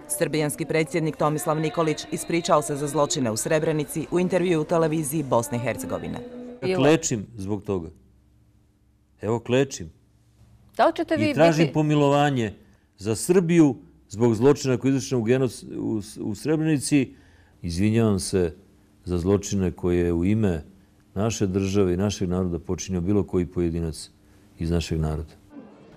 Srbijanski predsjednik Tomislav Nikolić ispričao se za zločine u Srebrenici u intervjuu u televiziji Bosne i Hercegovine. Klečim zbog toga. Evo klečim. Da li ćete vi I tražim biti... pomilovanje za Srbiju zbog zločina koji je izvršen u Srebrenici. Izvinjavam se za zločine koje je u ime naše države i našeg naroda počinio bilo koji pojedinac iz našeg naroda.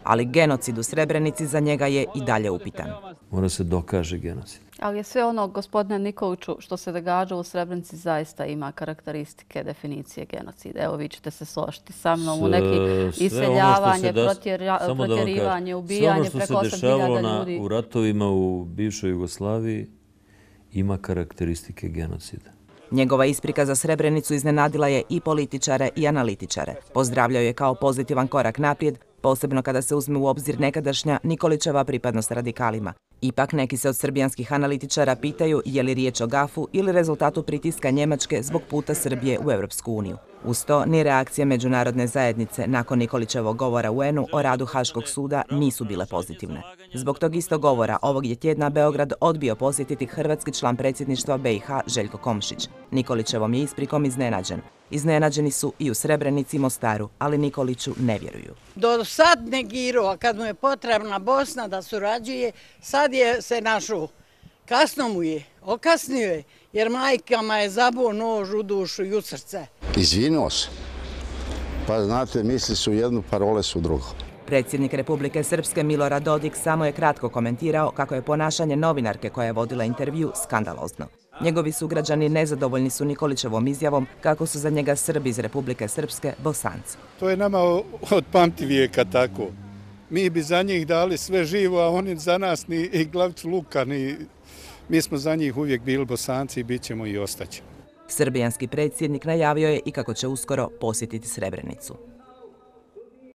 Ali genocid u Srebrenici za njega je i dalje upitan. Mora se dokaže genocid. Ali je sve ono, gospodine Nikoliću, što se događa u Srebrenici zaista ima karakteristike definicije genocida. Evo, vi ćete se složiti sa mnom u neki iseljavanje, protjerivanje, ubijanje preko 8.000 ljudi. Sve ono što se dešavalo u ratovima u bivšoj Jugoslaviji ima karakteristike genocida. Njegova isprika za Srebrenicu iznenadila je i političare i analitičare. Pozdravljaju je kao pozitivan korak naprijed, posebno kada se uzme u obzir nekadašnja Nikolićeva pripadnost radikalima. Ipak neki se od srbijanskih analitičara pitaju je li riječ o gafu ili rezultatu pritiska Njemačke zbog puta Srbije u Europsku uniju. Uz to, ni reakcije međunarodne zajednice nakon Nikolićevog govora UN-u o radu Haškog suda nisu bile pozitivne. Zbog tog istog govora ovog je tjedna Beograd odbio posjetiti hrvatski član predsjedništva BiH Željko Komšić. Nikolićevom je isprikom iznenađen. Iznenađeni su i u Srebrenici i Mostaru, ali Nikoliću ne vjeruju. Do sad negirao, a kad mu je potrebna Bosna da surađuje, sad je se našao. Kasno mu je, okasnio je, jer majkama je zabuo nož u dušu i u srce. Izvinuo se. Pa znate, misli su jednu, parole su drugo. Predsjednik Republike Srpske Milorad Dodik samo je kratko komentirao kako je ponašanje novinarke koja je vodila intervju skandalozno. Njegovi sugrađani nezadovoljni su Nikolićevom izjavom kako su za njega Srbi iz Republike Srpske Bosanci. To je nama od pamtivijeka tako. Mi bi za njih dali sve živo, a oni za nas ni glavicu luka, ni... Mi smo za njih uvijek bili Bosanci i bit ćemo i ostaći. Srbijanski predsjednik najavio je i kako će uskoro posjetiti Srebrenicu.